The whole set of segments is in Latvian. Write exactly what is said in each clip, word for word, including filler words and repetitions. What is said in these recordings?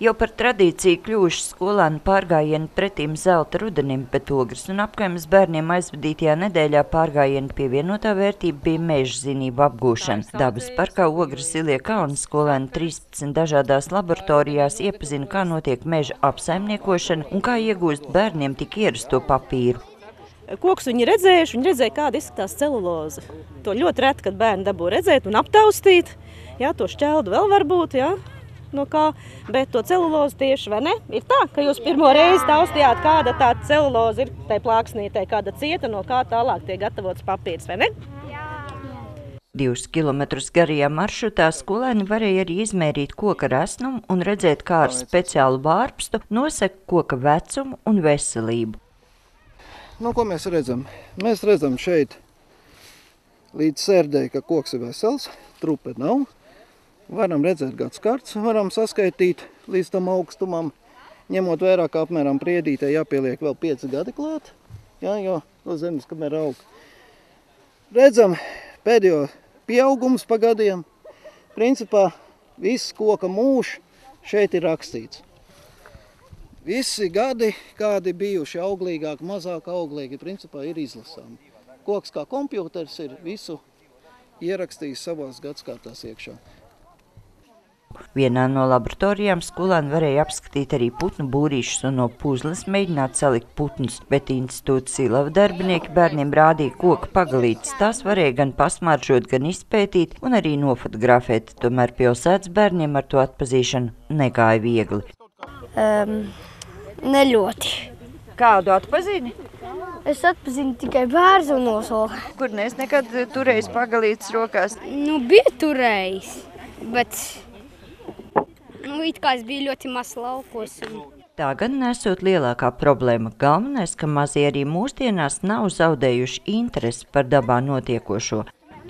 Jau par tradīciju kļuvuši skolēnu pārgājieni pretīm zelta rudenim, bet Ogres un apkaimes bērniem aizvadītajā nedēļā pārgājiena pievienotā vērtība bija meža zinību apgūšana. Dabas parkā Ogres Zilie kalni skolēni trīspadsmit dažādās laboratorijās iepazina, kā notiek meža apsaimniekošana un kā iegūst bērniem tik ierasto papīru. Kokus viņi redzējuši, viņi redzēja, kāda izskatās celuloze. To ļoti reti, kad bērni dabū redzēt un aptaustīt. Jā, to šķeldu vēl varbūt, jā. No kā, bet to celulozi tieši, vai ne? Ir tā, ka jūs pirmo reizi taustījāt, kāda tā celuloze ir tai plāksnītei, kāda cieta, no kā tālāk tiek gatavots papīrs, vai ne? Jā. Divus kilometrus garajā maršrutā skolēni varēja arī izmērīt koka resnumu un redzēt, kā ar speciālu vārpstu nosaka koka vecumu un veselību. Nu, ko mēs redzam? Mēs redzam šeit līdz sērdei, ka koks ir vesels, trupe nav. Varam redzēt gads karts, varam saskaitīt līdz tam augstumam, ņemot vērā, ka apmēram priedītē jāpieliek vēl pieci gadi klāt, jā, jo no zemes, kamēr aug. Redzam pēdējo pieaugums pa gadiem. Principā viss koka mūžs šeit ir rakstīts. Visi gadi, kādi bijuši auglīgāk, mazāk auglīgi, principā ir izlasāmi. Koks kā kompjūters ir visu ierakstījis savās gadskārtās iekšā. Vienā no laboratorijām skolēni varēja apskatīt arī putnu būrīšus un no puzles mēģināt salikt putnus, bet institūta Silava darbinieki bērniem rādīja koka pagalītes. Tās varēja gan pasmaržot, gan izpētīt un arī nofotografēt. Tomēr pilsētas bērniem ar to atpazīšanu negāja viegli. Um, ne ļoti. Kādu atpazini? Es atpazinu tikai bērzu un nosolu. Kur nes nekad turējis pagalītes rokās? Nu, bija turējis, bet... Nu, it kā es biju ļoti maz laukos. Un... Tā gan nesot lielākā problēma. Galvenais, ka mazie arī mūsdienās nav zaudējuši interesi par dabā notiekošo.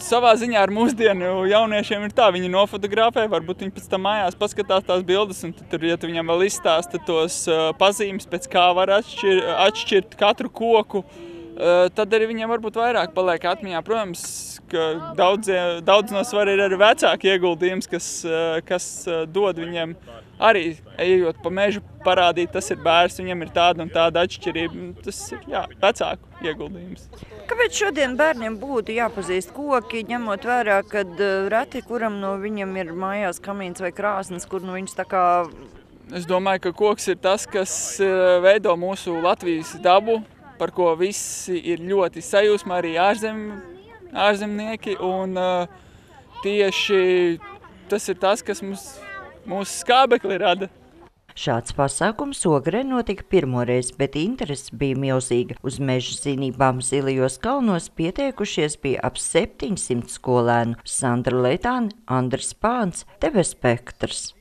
Savā ziņā ar mūsdienu jauniešiem ir tā, viņi nofotografē, varbūt viņi pēc tam mājās paskatās tās bildes, un tur, ja tu viņam vēl izstāsta tos uh, pazīmes, pēc kā var atšķir, atšķirt katru koku, uh, tad arī viņiem varbūt vairāk paliek atmiņā. Protams, ka daudz, daudz no svara ir arī vecāki ieguldījums, kas, kas dod viņiem arī, ejot pa mežu, parādīt, tas ir bērns, viņam ir tāda un tāda atšķirība. Tas ir, jā, vecāku ieguldījums. Kāpēc šodien bērniem būtu jāpazīst koki, ņemot vērā, kad reti kuram no viņam ir mājās kamīns vai krāsnes, kur nu viņus tā kā... Es domāju, ka koks ir tas, kas veido mūsu Latvijas dabu, par ko visi ir ļoti sajūsmā, arī ārzem, ārzemnieki, un uh, tieši tas ir tas, kas mums, mūsu skābekli rada. Šāds pasākums Ogrē notika pirmoreiz, bet interese bija milzīga. Uz meža zinībām Zilijos kalnos pieteikušies bija ap septiņsimt skolēnu. Sandra Leitāne, Andris Pāns, T V Spektrs.